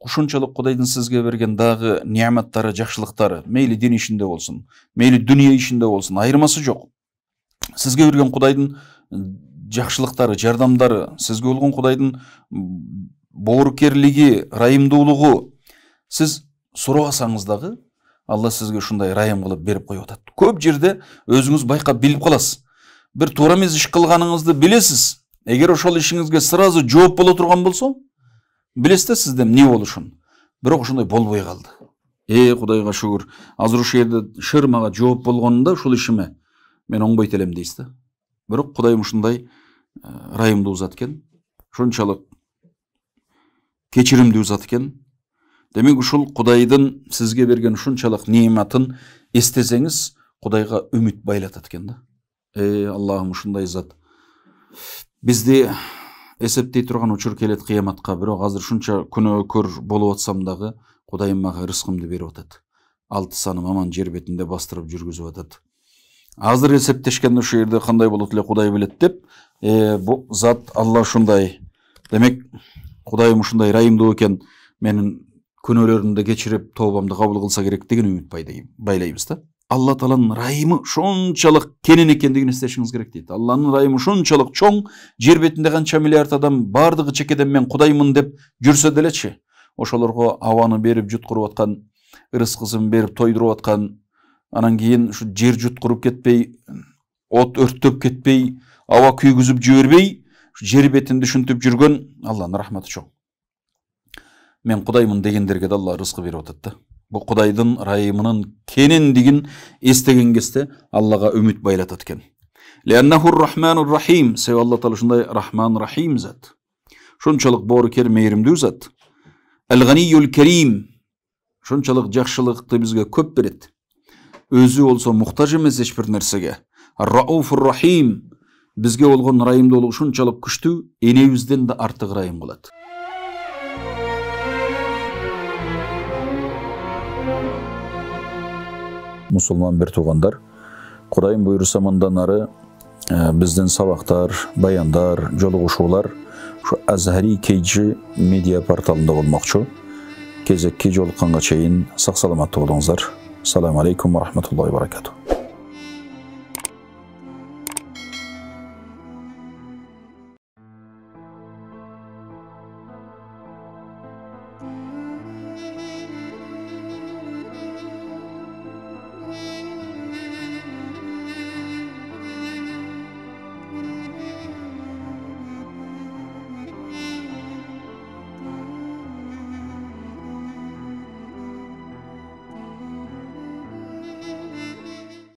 ушунчалык Кудайдын сизге берген дагы неаматтары, жакшылыктары, мейли дин ишинде болсун, мейли дүнүйө ишинде болсун, айырмасы жок. Сизге берген Кудайдын жакшылыктары, жардамдары, сизге болгон Кудайдын боорукерлиги, ырайымдуулугу сиз сурабасаңыз дагы Алла сизге ушундай ырайым кылып берип коюп атат. Көп жерде өзүңүз байкап билип каласыз. Бир туура эмес иш кылганыңызды билесиз. Эгер ошол ишиңизге сразу жооп боло турган болсо, билесиз сизде эмне болушун. Бирок ошондой болбой калды. Кудайга шүгүр. Азыр ушул жерде шыр мага жооп болгонунда ушул ишиме мен оңбойт элем дейсиз да. Бирок Кудайым ушундай ырайымдуу зат экен. Ушунчалык кечиримдүү зат экен. Демек ушул Кудайдын сизге берген ушунчалык неаматын эстесеңиз, Кудайга үмүт байлатат экен да. Аллахым ушундай зат. Бизди эсептей турган учур келет кыяматка, бирок азыр ушунча күнөөкөр болуп атсам дагы Кудайым мага рызкымды берип атат. 6 саным аман жер бетинде бастырып жүргүзүп атат. Азыр эсептешкенде ушул жерде кандай болот эле Кудай билет деп, бу зат Алла ушундай. Демек Кудайым ушундай ырайымдуу экен, менин күнөөлөрүмдү кечирип, тообамды кабыл кылса керек деген үмүт байлайбыз да. Алла Тааланын ырайымы ушунчалык кенен экендигин эстешиңиз керек дейт. Алланын ырайымы ушунчалык чоң, жер бетинде канча миллиард адам бардыгы чекеден мен Кудаймын деп жүрсө делечи, ошолорго абаны берип жуткуруп аткан, ырыскысын берип тойдуруп аткан, анан кийин ушу жер жуткуруп кетпей, от өрттөп кетпей, аба күйгүзүп жибербей, жер бетинде ушинтип жүргөн Алланын рахматы чоң. Мен Кудаймын дегендерге да Алла рызкы берип атат да. Бу Кудайдын ырайымынын кенендигин эстеген кезде Аллага үмүт байлатат экен. Лианнахур рахманур рахим. Себеби Алла Таала ушундай рахман рахим зат. Ушунчалык боорукер, мейримдүү зат. Ал-ганиюл карим. Ушунчалык жакшылыкты бизге көп берет. Өзү болсо муктаж эмес эч бир нерсеге. Ар-рауфур рахим. Бизге болгон ырайымдуулугу ушунчалык күчтүү, энебизден да артык ырайым кылат. Мусулман бир туугандар, Кудайым буйруса мындан ары биздин сабактар, баяндар, жолугушуулар ушу Azhari KG медиа порталында болмокчу. Кезекке жолукканга чейин сак саламаттуу болуңуздар. Ассаламу алейкум ва рахматуллахи ва баракатух.